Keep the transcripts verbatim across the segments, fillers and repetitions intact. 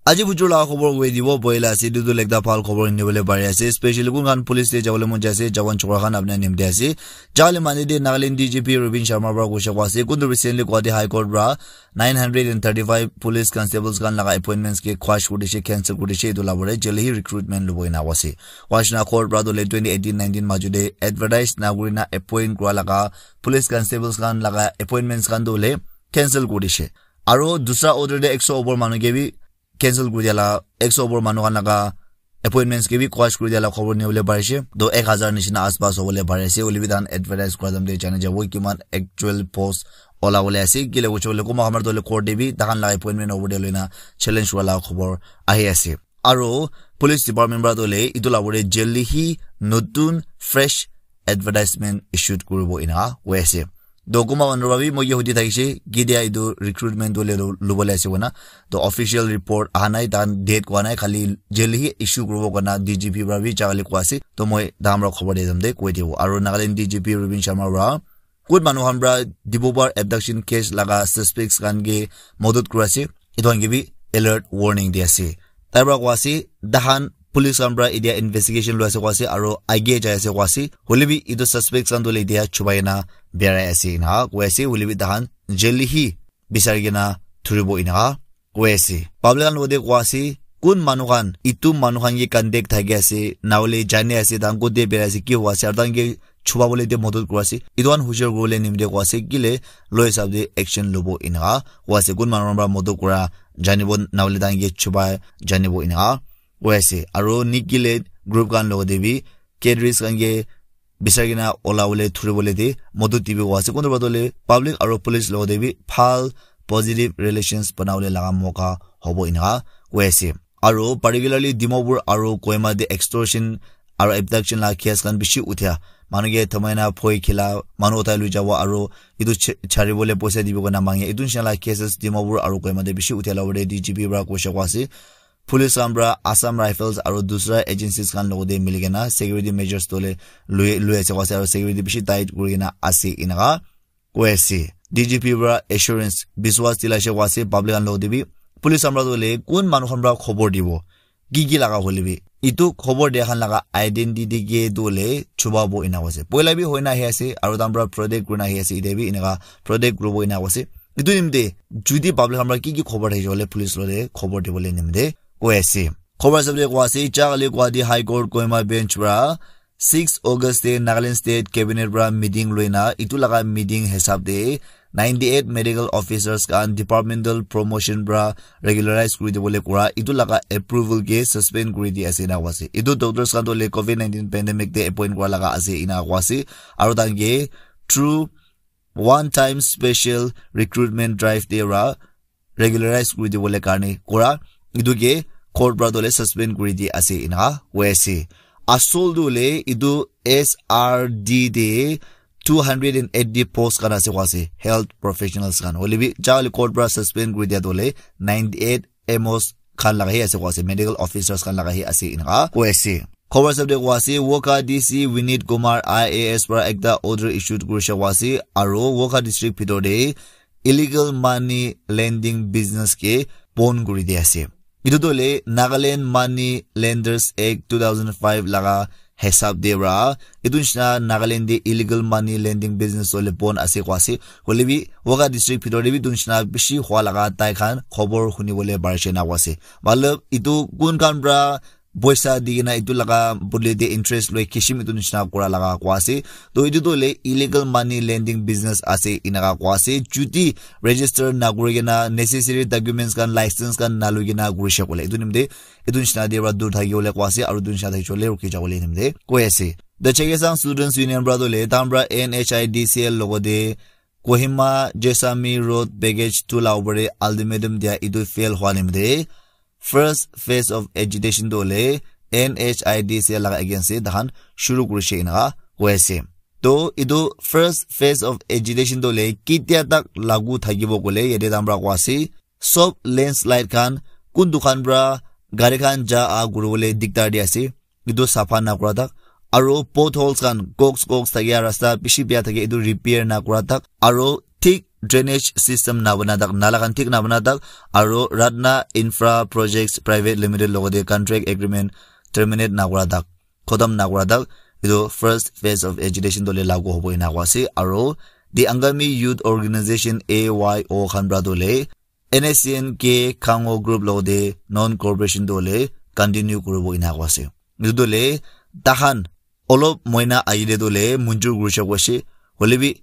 Aji bujur laga khobor koi dibo boila ase, etu tu ekta bhal khobor nibole pari ase, especially kun khan police te jabole mon jai ase, jawan chokra khan apni nimte ase. Jale mane de Nagaland D G P Rubin Sharma para koi se koi ase, kun tu recently Guwahati High Court para nine hundred and thirty-five police constables khan laga appointments ke quash kuri dishe, cancel kuri dishe, etu la bole jale hi recruitment lobo ena koi ase. Koi ase na court para tu le twenty eighteen nineteen maju de advertise na kuri na appoint kura laga police constables khan laga appointments khan tu le cancel kuri dishe. Aro dusra order de ekso opor manu ke bi cancel kuri dia la, ekso opor manu khan laga appointments ke bi quash kuri dia la khobor nibole pari ase. To ek hazar nishina aspas hobole pari ase, hoile bi tahan advertise kura time de jani jabo kiman actual post ola bole ase. Kile koiche koile kunba khan para to le court de bi tahan laga appointment hobo de loina challenge kura la khobor ahi ase. Aro police department para to le etu la bole jale hi notun fresh advertisement issued kuribo ena koi ase. To kunba manu para bi moi ke hudi thakishe, ketia etu recruitment tu le lo-, lobole ase koina. To official report aha nai, tahan date koa nai, khali jale hi issue kuribo koina D G P para bi jale koi ase. To moi tahan para khobor de jam de koi dibo. Aro Nagaland D G P Rubin Sharma para kun manu khan para Dibrugarh abduction case laga suspects khan ke madad kura ase, etu khan ke bi alert warning di ase. Tai para koi ase, tahan police khan para etia investigation loi ase koi ase, aro age jai ase koi ase. Hoile bi etu suspects khan tu le etia chubai na birai ase ena koi ase. Hoile bi tahan jale hi bisari kena thuribo ena koi ase. Public khan logote koi ase, kun manu khan, etu manu khan ke contact thaki ase, na hoile jani ase, tahan kote birai ase, ki hoi ase, aro tahan ke chuba bole de madad kuri ase. Etu khan hushar kuribole nimite koi ase, kile loi hisab de action lobo ena koi ase. Kun manu khan para madad kura janibo, na hoile tahan ke chuba janibo ena koi ase. Aro Nikki le group khan logote bi cadres khan ke bisari kena ola bole thuri bole de madad dibo koi ase. Kunba to le public aro police logote bi bhal positive relations bana bole laga moka hobo ena koi ase. Aro particularly Dimapur aro Kohima de extortion aro abduction la case khan bishi uthia. Manu ke thamai na phoi khila, manu uthai lui jabo aro etu ch-, chari bole poisa dibo koina mange. Etu nishina la cases Dimapur aro Kohima de bishi uthia la bole D G P para koi se koi ase. Police khan para Assam Rifles aro dusra agencies khan logote mili kena security measures to le lui, lui ase koi ase aro security bishi tight kuri kena ase ena koi ase. D G P para assurance, biswas dilaise koi ase public khan logote bi. Police khan para to le kun manu khan para khobor dibo, ki ki laga hoile bi. Etu khobor dia khan laga identity ke tu le chuba bo ena koi ase. Poila bi hoina ahi ase, aro tahan para protect kurina ahi ase, etia bi eneka protect kuribo ena koi ase. Etu nimite jodi public khan para ki ki khobor thakishe koile police logote khobor dibole nimite koi ase. Khobor hisab de koi ase, jale Guwahati High Court Kohima bench para six August de Nagaland State Cabinet para meeting loina, etu laga meeting hisab de ninety eight medical officers khan departmental promotion para regularize kuri dibole kura, etu laga approval ke suspend kuri di ase ena koi ase. Etu doctors khan to le covid nineteen pandemic de appoint kura laga ase ena koi ase. Aro tahan ke through one time special recruitment drive de ra regularize kuri dibole karne kura, etu ke court para to le suspend kuri di ase ena koi ase. Asol tu le etu S R D de two hundred and eighty post khan ase koi ase, health professionals khan. Hoile bi jale court para suspend kuri dia to le ninety eight M Os khan laga hi ase koi ase, medical officers khan laga hi ase ena koi ase. Khobor hisab de koi ase, Wokha D C Vinit Kumar I A S para ekta order issued kurishe koi ase, aro Wokha district bhitor de illegal money lending business ke bon kuri di ase. Etu to le Nagaland Money Lenders Act two thousand five laga hisab de ra, etu nishina Nagaland de illegal money lending business to le bon ase koi ase. Hoile bi Wokha district bhitor de bi etu nishina bishi hua laga tai khan khobor huni bole parishe ena koi ase. Matlab etu kun khan para poisa di kena etu laga bodole de interest loi kishim etu nishina kura laga koi ase. To etu to le illegal money lending business ase ena koi ase. Jodi register na kuri kena necessary documents khan, license khan na loi kena kurishe koile, etu nimite etu nishina de para dur thaki bole koi ase, aro etu nishina thakishe koile ruki jabole nimite koi ase. The Chakhesang Students Union para to le tahan para N H I D C L logote Kohima Jessami Road Package two la opor de ultimatum dia etu fail hua nimite first phase of agitation to le N H I D C L laga against de tahan shuru kurishe ena koi ase. To etu first phase of agitation to le ketia tak lagu thakibo koile yate tahan para koi ase, sob landslide khan, kun dukan para gari khan ja a kuri bole dikdar di ase, etu sapha na kura tak, aro potholes khan, cracks cracks thakia rasta bishi bia thake, etu repair na kura tak, aro thik drainage system nabana tak, nala khan thik nabana tak, aro Ratna Infra Projects Private Limited logode contract agreement terminate nakura tak, khotam nakura tak, itu first phase of agitation tole lagu hobo ina koa ase. Aro the Angami Youth Organization, A Y O, khan pra tole N S C N K Khango group logode non cooperation tole continue kuribo ina koa ase. Itu tole tahan olop moina agile tole munjur kurisha koa ase. Holebi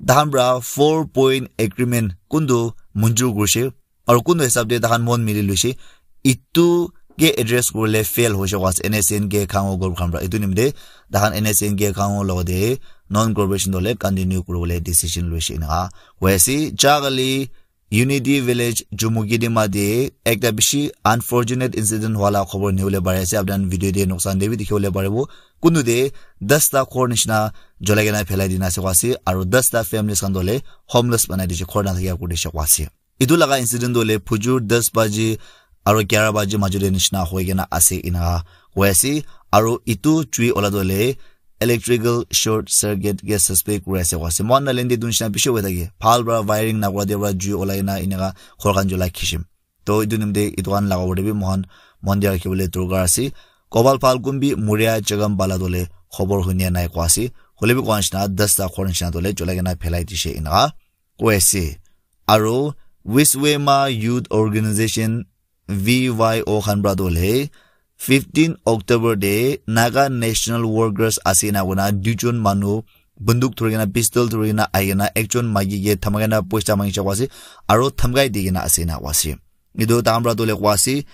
tahan pra four point agreement kuntu munjur kurishe, aro kuntu hisab de tahan mon mili luishe, itu ke address kurile fail hoishe koa ase N S C N K Khango group khan pra. Itu nimite tahan N S C N K Khango logode non cooperation tole continue kuribole decision luishe ina koa ase. Jagali Unity Village Jumukidima de ekta bishi unfortunate incident hwala khobor nibole pari ase. Apni khan video de noksan de bi dikhi bole paribo. Kuntu de dasta ghor nishina jolai kena phelai dina ase koa ase, aro dasta families khan tole homeless banai dishe, ghor na thakia kuri dishe koa ase. Itu laga incident tole phujur das baji aro gyara baji majo de nishina hoi kena ase ina koa ase. Aro itu jui ola tole electrical short circuit ke suspect kuri ase koa ase. Mohan Nagaland de itu nishina bishi hoi thake. Bhal pra wiring nakura de pra jui olai na inaka ghor khan julai khishim. To itu nimite itu khan laga opor de bi mohan mon de rakhi bole dorkar ase. Gopal Phalgun bi Muria Chagam bala tole khobor hunia nai koa ase. Holebi koa nishina dasta ghor nishina tole julai kena phelai dishe inaka koa ase. Aro Wiswema Youth Organization, V Y O, khan pra tole fifteen October de Naga National Workers ase ina koina duijon manu bunduk dhuri kena, pistol dhuri kena ahi kena ekjon maiki ke dhamkai na poisa mangisha koa ase, aro dhamkai di kena ase ina koa ase. Itu tahan pra tole koa ase,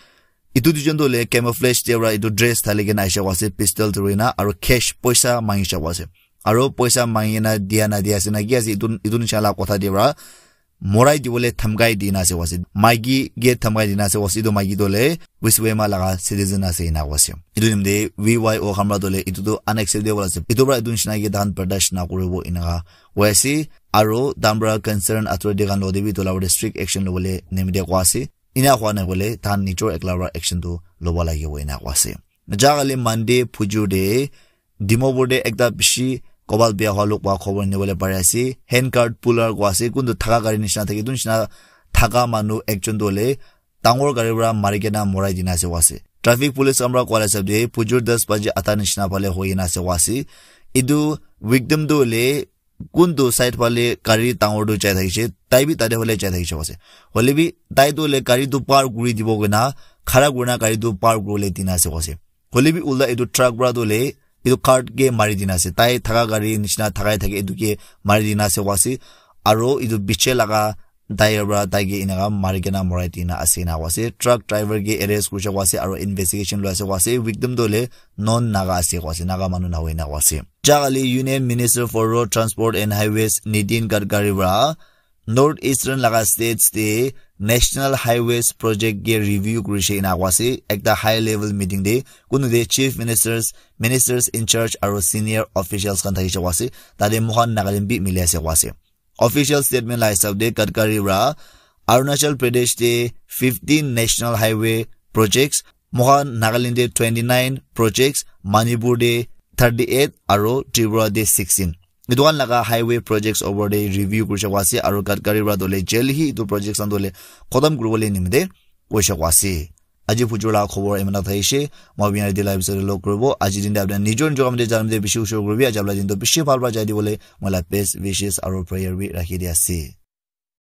itu duijon tole camouflage de pra itu dress thali kena aisha koa ase, pistol dhuri kena, aro cash poisa mangisha koa ase. Aro poisa mangi kena dia na dia ase na ki ase, itu, itu nishina la kotha de pra morai dibole dhamkai dina ase koa ase. Maiki ke dhamkai dina ase koa ase. Itu maiki tole Wiswema laga citizen ase ina koa ase. Itu nimite V Y O khan pra tole itu tu unacceptable ase. Itu pra itu nishina ke tahan bardash na kuribo inaka koa ase. Aro tahan pra concern authority khan logode bi itu la strict action lobole nimite koa ase. Ina hwa nai koile tahan nijor ekla pra action tu lobo lagibo ina koa ase. Jagali Monday phujur de Dimapur de ekta bishi kobal bia hwa luk pa khobor nibole pari ase. Handcart puller koa ase, kuntu thaka gari nishina thake, itu nishina thaka manu ekjon tole dangor gari pra mari kena morai dina ase koa ase. Traffic police khan pra koa la hisab de phujur das baji ata nishina phale hoi kena ase koa ase. Itu victim tu hoile kuntu side phale gari dangor tu jai thakishe, tai bi tate phale jai thakishe koa ase. Hoilebi tai tu hoile gari tu par kuri dibo koina, khara kurina gari tu par kuribole dina ase koa ase. Hoilebi ulta itu truck pra tu hoile itu cart ke mari dina ase. Tai thaka gari nishina thakai thake itu ke mari dina ase koa ase. Aro itu piche laga tyre pra tai ke inaka mari kena morai dina ase ina koa ase. Truck driver ke arrest kurisha koa ase aro investigation loi ase koa ase. Victim tu hoile non Naga ase koa ase, Naga manu nahoi ina koa ase. Jagali Union Minister for Road Transport and Highways Nitin Gadkari pra North Eastern laga states te National Highways project ke review kurishe ina koa ase. Ekta high level meeting de kuntu de chief ministers, ministers in charge aro senior officials khan thakishe koa ase. Tate mohan Nagaland bi mili ase koa ase. Official statement la hisab de Gadkari pra Arunachal Pradesh de fifteen national highway projects, mohan Nagaland de twenty-nine projects, Manipur de thirty-eight aro Tripura de sixteen. Itu khan laga highway projects opor de review kurisha koa ase aro Gadkari pra tole jaldi hi itu projects khan tole khotom kuribole nimite koisha koa ase. Aji phujur la khobor imana thaishe, moi apni khan yate la episode log kuribo. Aji din te apni khan nijor nijor kam te jan te bishi ushur kuribi. Aji apni la din to bishi bhal pra jai dibole moi la best wishes aro prayer bi rakhi di ase.